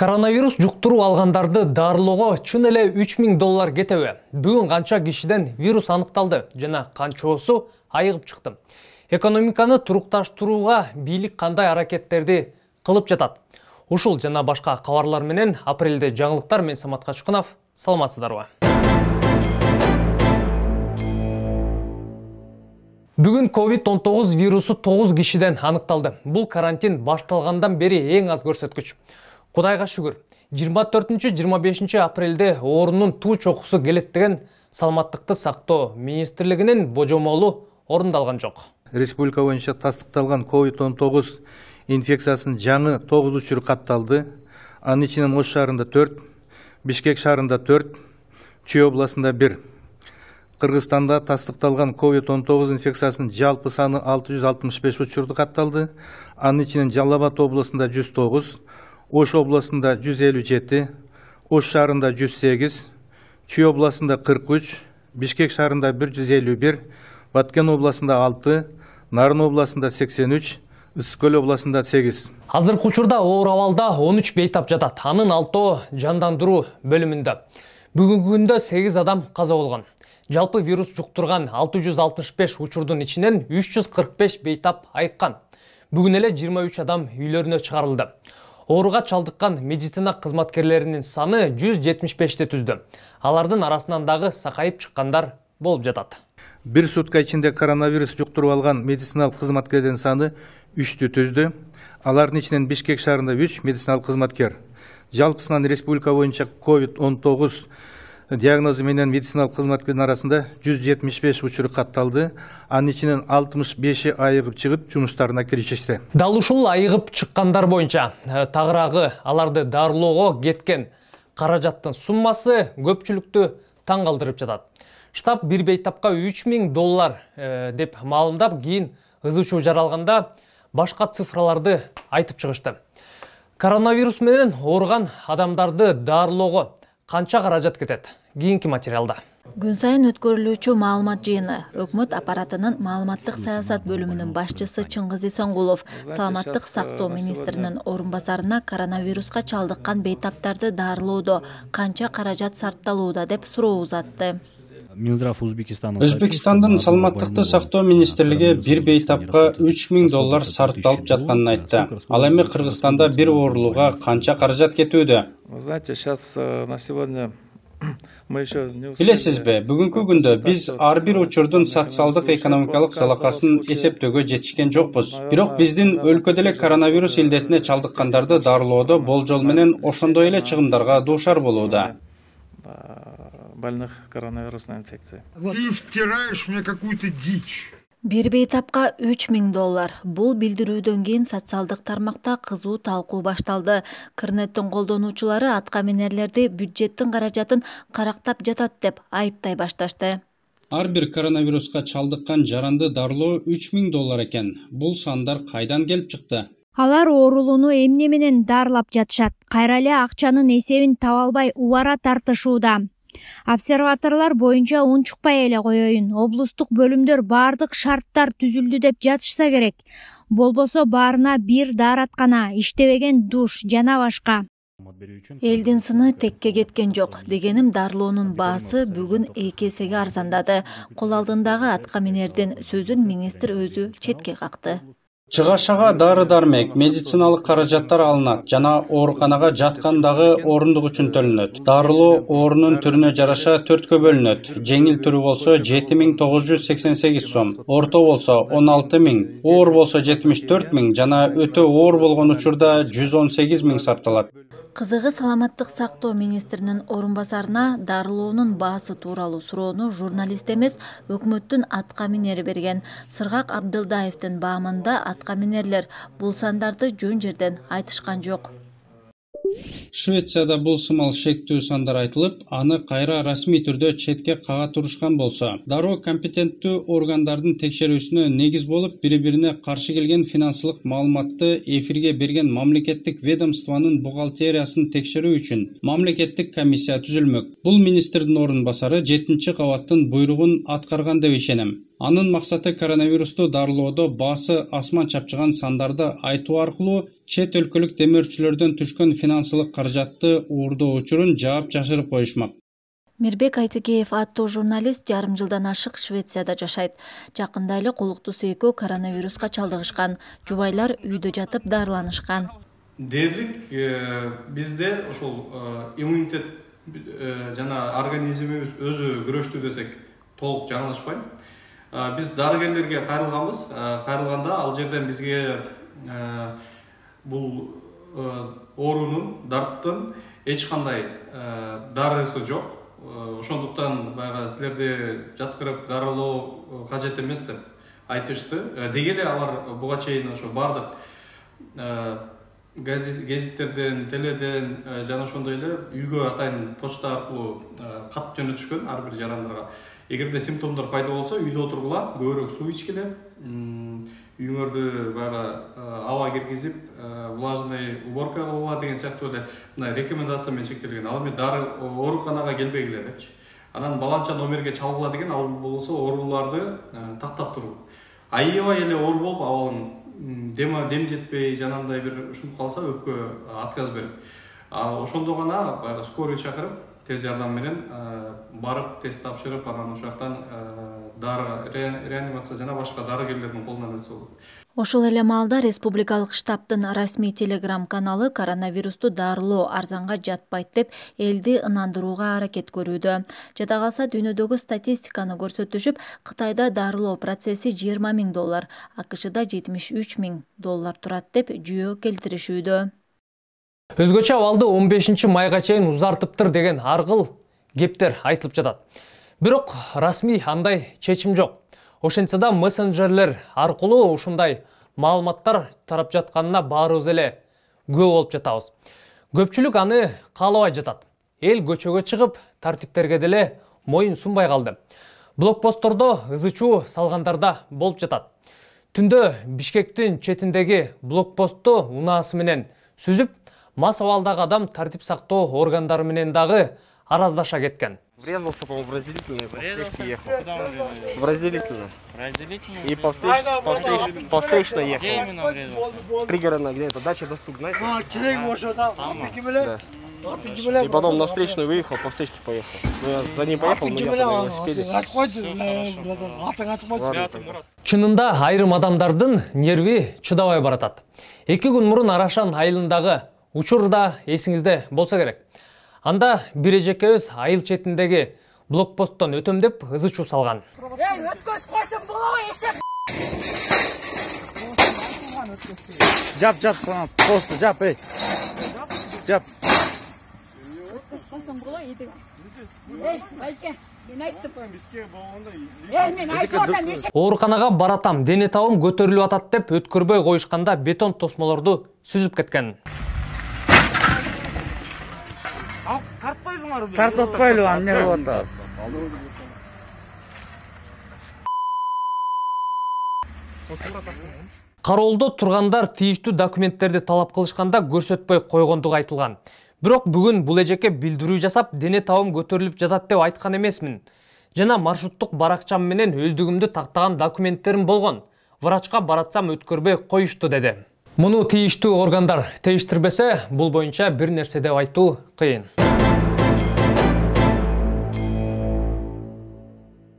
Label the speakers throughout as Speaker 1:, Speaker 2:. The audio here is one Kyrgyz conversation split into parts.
Speaker 1: Коронавирус жуктуруп алгандарды дарылоого чын эле $3000 кетеби? Бүгүн канча кишиден вирус аныкталды жана канчоосу айыгып чыкты? Экономиканы турукташтырууга бийлик кандай аракеттерди кылып жатат? Ушул жана башка кабарлар менен апрелде жаңылыктар. Мен Самат Качкынов. Саламатсыздарбы? Бүгүн COVID-19 вирусу 9 кишиден аныкталды. Бул карантин башталгандан бери эң аз көрсөткүч. Кудайга шүгүр, 24-25 апрелде оорунун туу чокусу келет деген Саламаттыкты сактоо министрлигинин божомолу орундалган жок.
Speaker 2: Республика боюнча тастыкталган COVID-19 инфекциясынын жаңы 9 учуру катталды. Анын ичинен Ош шаарында 4, Бишкек шаарында 4, Чүй областында 1. Кыргызстанда тастыкталган COVID-19 инфекциясынын жалпы саны 665 учурду катталды. Анын ичинен Жалал Абад областында 109, Ош областында 157, Ош шаарында 108, Чүй областында 43, Бишкек шаарында 151, Баткен областында 6, Нарын областында 83, Ысык-Көл областында 8.
Speaker 1: Азыркы учурда оор абалда 13 бейтап жатат. Анын 6 жандандыруу бөлүмүндө. Бүгүнкү күндө 8 адам каза болгон. Жалпы вирус жуктурган 665 учурдун ичинен 345 бейтап айыккан. Бүгүн эле 23 адам үйлөрүнө чыгарылды. Ооруга чалдыккан медицина кызматкерлеринин саны 175ти түздү. Алардын арасынан дагы сакайып чыккандар болуп жатат.
Speaker 2: Бир сутка ичинде коронавирус жуктуруп алган медициналык кызматкерлердин саны 3тү түздү. Алардын ичинен Бишкек шаарында 3 медициналык кызматкер. Жалпысынан республика боюнча COVID-19 диагнозу менен медициналык кызматкердин арасында 175 учуру катталды. Анын ичинен 65 айыгып чыгып жумуштарына киришишти.
Speaker 1: Дал ушул айыгып чыккандар боюнча тагыраагы аларды дарылоого кеткен каражаттын суммасы көпчүлүктү таң калтырып жатат. Штаб бир бейтапка $3000 деп маалымдап, кийин ызы чуу жаралганда башка цифраларды айтып чыгышты. Коронавирус менен ооруган адамдарды дарылоого канча каражат кетет? Кийинки материалда.
Speaker 3: Күн сайын өткөрүлүүчү маалымат жыйыны. Өкмөт аппаратынын маалыматтык саясат бөлүмүнүн башчысы Чыңгыз Исангулов саламаттык сактоо министринин орун басарына коронавируска чалдыккан бейтаптарды дарылоодо канча каражат сарпталууда деп суроо узатты.
Speaker 4: Өзбекстандын саламаттыкты сактоо министрлиги бир бейтапка $3000 сарпталып жатканын айтты. Ал эми Кыргызстанда бир оорулууга канча каражат кетүүдө? Билесизби, бүгүнкү күндө биз ар бир учурдун социалдык экономикалык залакасын эсептөөгө жетишкен жокпуз. Бирок биздин өлкөдө эле коронавирус илдетине чалдыккандарды дарылоодо болжол менен ошондой эле чыгымдарга дуушар болууда.
Speaker 5: Больных коронавирусной инфекцией.
Speaker 6: Ты втираешь мне какую-то дичь.
Speaker 3: Бир бейтапка $3000. Бул билдирүүдөн кийин социалдык тармакта кызуу талкуу башталды. Кырнеттин колдонуучулары аткаминерлерди бюджеттин каражатын карактап жатат деп айыптай башташты.
Speaker 4: Ар бир коронавируска чалдыккан жаранды дарылоо $3000 экен. Бул сандар кайдан келип чыкты?
Speaker 7: Алар оорулууну эмне менен дарылап жатышат? Кайра эле акчанын эсебин таба албай убара тартышууда. Обсерваторлор боюнча унчукпай эле коеюн. Облустук бөлүмдөр бардык шарттар түзүлдү деп жатышса керек. Болбосо баарына бир даараткана, иштебеген душ жана башка.
Speaker 3: Элдин сыны текке кеткен жок. Дегеним, дарылоонун баасы бүгүн 2 эсеге арзандады. Кол алдындагы аткаминердин сөзүн министр өзү четке какты.
Speaker 4: Чыгашага дары-дармек, медициналык каражаттар алынат жана ооруканага жаткандагы орундук үчүн төлөнөт. Дарылоо оорунун түрүнө жараша 4кө бөлүнөт. Жеңил түрү болсо 7988 сом, орто болсо 16000, оор болсо 74000 жана өтө оор болгон учурда 118000 сарпталат.
Speaker 3: Кызыгы, саламаттык сактоо министринин орун басарына дарылоонун баасы тууралуу суроону журналист эмес, өкмөттүн аткаминери берген. Сыргак Абдылдаевдин баамында аткаминерлер бул сандарды жөн жерден айтышкан жок.
Speaker 4: Швецияда бул сымал шектүү сандар айтылып, аны кайра расмий түрдө четке кага турушкан болсо, дароо компетенттүү органдардын текшерүүсүнө негиз болуп, бири-бирине каршы келген финансылык маалыматты эфирге берген мамлекеттик ведомствонун бухгалтериясын текшерүү үчүн мамлекеттик комиссия түзүлмөк. Бул министрдин орун басары 7-кабаттын буйругун аткарган деп ишенем. Анын максаты коронавирусту дарылоодо баасы асман чапчыган сандарды айтуу аркылуу чет өлкөлүк демөөрчүлөрдөн түшкөн финансылык каражатты уурдоо учурун жаап жашырып коюшмак.
Speaker 3: Мирбек Айтыкеев аттуу журналист жарым жылдан ашык Швецияда жашайт. Жакында эле колуктусу экөө коронавируска чалдыгышкан. Жубайлар үйдө жатып дарыланышкан.
Speaker 8: Дээрлик бизде ошол иммунитет жана организмибиз өзү күрөштү десек толук жаңылышпайм. Биз дарыгерлерге кайрылганбыз. Кайрылганда ал жерден бизге бул оорунун, дарттын эч кандай дарысы жок. Ошондуктан баягы силерди жаткырып дарылоо кажет эмес деп айтышты. Деги эле алар буга чейин ошо бардык гезиттерден, теледен жана ошондой эле үйгө атайын почта аркылуу кат жөнөтүшкөн ар бир жарандарга. Эгерде симптомдор пайда болсо, үйдө отургула, көбүрөөк суу ичкиле, үйүңөрдү баягы аба киргизип, влажный уборка кылгыла деген сыяктуу эле мына рекомендация менен чектелген. Ал эми дары ооруканага келбегиле депчи. Анан баланча номерге чалгыла деген, ал болсо ооруларды тактап туруу. Аябай эле оор болуп, абалын дем жетпей, жанагындай бир ушунуп калса өпкө отказ берип. Ошондо гана баягы скорый чакырып, тез жардам менен барып тест тапшырып, анан ошол жактан дары реанимация жана башка дарыгерлердин колунан өтсө болот.
Speaker 3: Ошол эле маалда республикалык штабтын расмий телеграм каналы коронавирусту дарылоо арзанга жатпайт деп элди ынандырууга аракет көрүүдө. Жада калса дүйнөдөгү статистиканы көрсөтүшүп, Кытайда дарылоо процесси $20,000, АКШда $73,000 турат деп жүйө келтиришүүдө.
Speaker 1: Өзгөчө абалды 15 майга чейин узартыптыр деген аргыл кептер айтылып жатат. Бирок расмий андай чечим жок. Ошентсе да мессенджерлер аркылуу ушундай маалыматтар тарап жатканына баарыбыз эле күбө болуп жатабыз. Көпчүлүк аны каалабай жатат. Эл көчөгө чыгып, тартиптерге деле моюн сунбай калды. Блокпосттордо ызы-чуу салгандарда болуп жатат. Түндө Бишкектин четиндеги блокпостту унаасы менен сүзүп, мас абалдагы адам тартип сактоо органдары менен дагы араздаша кеткен.
Speaker 9: Врезался, по-моему, в разделительную, ехал. В разделительную. И по встречной ехал. Где именно врезался? Пригородная, где-то дача доступ, знаете? Да. И потом на встречную выехал, по встречке поехал. Ну, я за ним поехал, но я на велосипеде.
Speaker 1: Чынында айрым адамдардын нерви чыдабай баратат. 2 күн мурун Арашан айылындагы учур да эсиңизде болсо керек. Анда бир эжекебиз айыл четиндеги блокпосттон өтөм деп ызы-чуу салган.
Speaker 10: Өткөз койсоң болобу эшек?
Speaker 11: Жап, посту жап, эй. Жап.
Speaker 10: Өткөз койсоң болобу эди. Эй, байке, мен айттым. Мен айттым.
Speaker 1: Ооруканага баратам, дене табым көтөрүлүп атат деп өткөрбөй коюшканда бетон тосмолорду сүзүп кеткен.
Speaker 11: Тартпайлы эмне болуп атат?
Speaker 1: Кароолдо тургандар тийиштүү документтерди талап кылышканда көрсөтпөй койгондугу айтылган. Бирок бүгүн бул эжекке билдирүү жасап, дене табым көтөрүлүп жатат деп айткан эмесмин. Жана маршруттук баракчам менен өздүгүмдү тактаган документтерим болгон. Врачка баратсам өткөрбөй коюшту деди. Муну тийиштүү органдар тештирбесе, бул боюнча бир нерсе деп айтуу кыйын.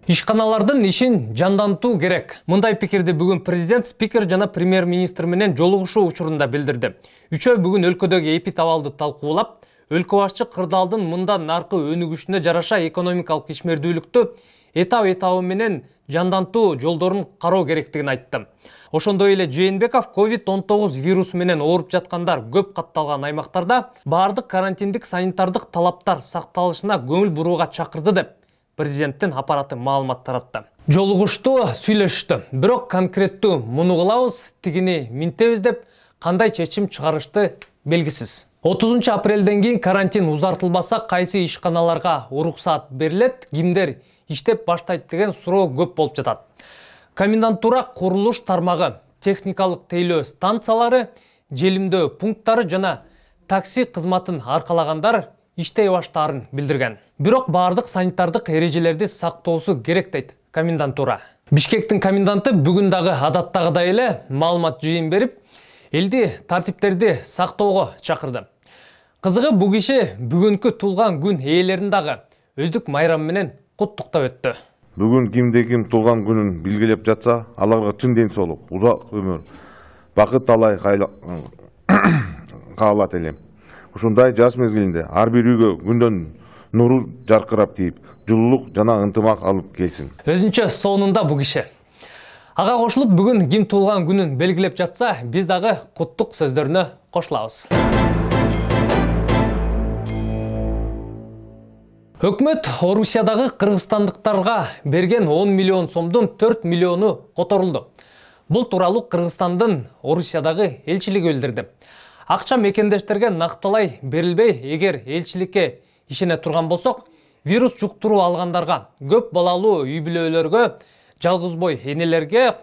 Speaker 1: Ишканалардын ишин жандантуу керек. Мындай пикирди бүгүн президент, спикер жана премьер-министр менен жолугушуу учурунда билдирди. Үчөө бүгүн өлкөдөгү эпид абалды талкуулап, өлкө башчы кырдаалдын мындан наркы өнүгүшүнө жараша экономикалык ишмердүүлүктү этап менен жандантуу жолдорун кароо керектигин айтты. Ошондой эле Жээнбеков COVID-19 вирусу менен ооруп жаткандар көп катталган аймактарда баардык карантиндик санитардык талаптар сакталышына көңүл бурууга чакырды деп президенттин аппараты маалымат таратты. Жолугушту, сүйлөшүштү. Бирок конкреттүү муну кылабыз, тигини минтебиз деп кандай чечим чыгарышты белгисиз. 30 апрелден кийин карантин узартылбаса, кайсы ишканаларга уруксаат берилет, кимдер иштеп баштайт деген суроо көп болуп жатат. Комендантура курулуш тармагы, техникалык тейлөө станциялары, желимдөө пункттары жана такси кызматын аркалагандар иштей баштаарын билдирген. Бирок баардык санитардык эрежелерди сактоосу керек дейт комендантура. Бишкектин коменданты бүгүн дагы адаттагыдай эле маалымат жыйын берип, элди тартиптерди сактоого чакырды. Кызыгы бул киши бүгүнкү туулган күн ээлерин дагы өздүк майрамы менен куттуктап өттү.
Speaker 12: Бүгүн кимде ким туулган күнүн белгилеп жатса, аларга чын ден соолук, узак өмүр, бакыт талай каалат элем. Ушундай жаз мезгилинде ар бир үйгө күндөн нуру жаркырап тийип, жылуулук жана ынтымак алып келсин.
Speaker 1: Өзүнчө сонунда бул киши. Ага кошулуп бүгүн ким туулган күнүн белгилеп жатса, биз дагы куттук сөздөрүнө кошулабыз. Өкмөт Орусиядагы кыргызстандыктарга берген 10 миллион сомдун 4 миллиону которулду. Бул тууралуу Кыргызстандын Орусиядагы элчилиги билдирди. Акча мекендештерге накталай берилбей, эгер элчиликке ишене турган болсок, вирус жуктуруу алгандарга, көп балалуу үй бүлөлөргө, жалгыз бой энелерге,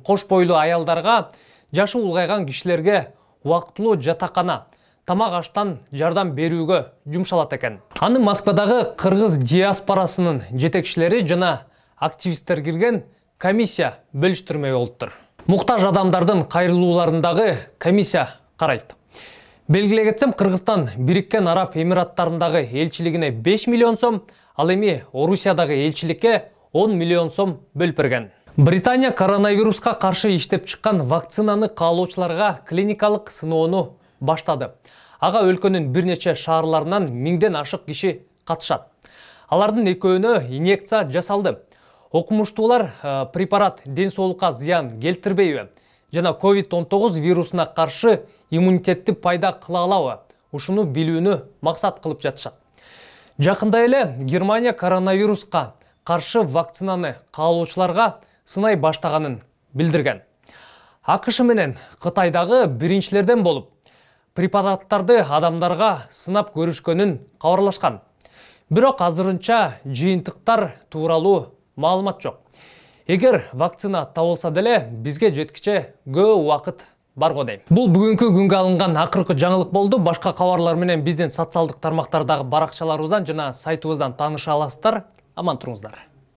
Speaker 1: кош бойлуу аялдарга, жашы улгайган кишилерге убактылуу жатакана, тамак аштан жардам берүүгө жумшалат экен. Аны Москвадагы кыргыз диаспорасынын жетекчилери жана активисттер кирген комиссия бөлүштүрмөй болуптур. Муктаж адамдардын кайрылууларындагы комиссия карайт. Белгилей кетсем, Кыргызстан Бириккен Араб Эмираттарындагы элчилигине 5 миллион сом, ал эми Орусиядагы элчиликке 10 миллион сом бөлүп берген. Британия коронавируска каршы иштеп чыккан вакцинаны каалоочуларга клиникалык сыноону баштады. Ага өлкөнүн бир нече шаарларынан 1000ден ашык киши катышат. Алардын экөөнө инъекция жасалды. Окумуштуулар препарат ден соолукка зыян келтирбейби жана COVID-19 вирусуна каршы иммунитетти пайда кыла алабы, ушуну билүүнү максат кылып жатышат. Жакында эле Германия коронавируска каршы вакцинаны каалоочуларга сынай баштаганын билдирген. АКШ менен Кытайдагы биринчилерден болуп, препараттарды адамдарга сынап көрүшкөнүн кабарлашкан. Бирок азырынча жыйынтыктар тууралуу маалымат жок. Эгер вакцина табылса деле, бизге жеткиче көп убакыт бар го дейм. Бул бүгүнкү күнгө алынган акыркы жаңылык болду. Башка кабарлар менен биздин социалдык тармактардагы баракчаларыбыздан жана сайтыбыздан тааныша аласыздар. Аман туруңуздар.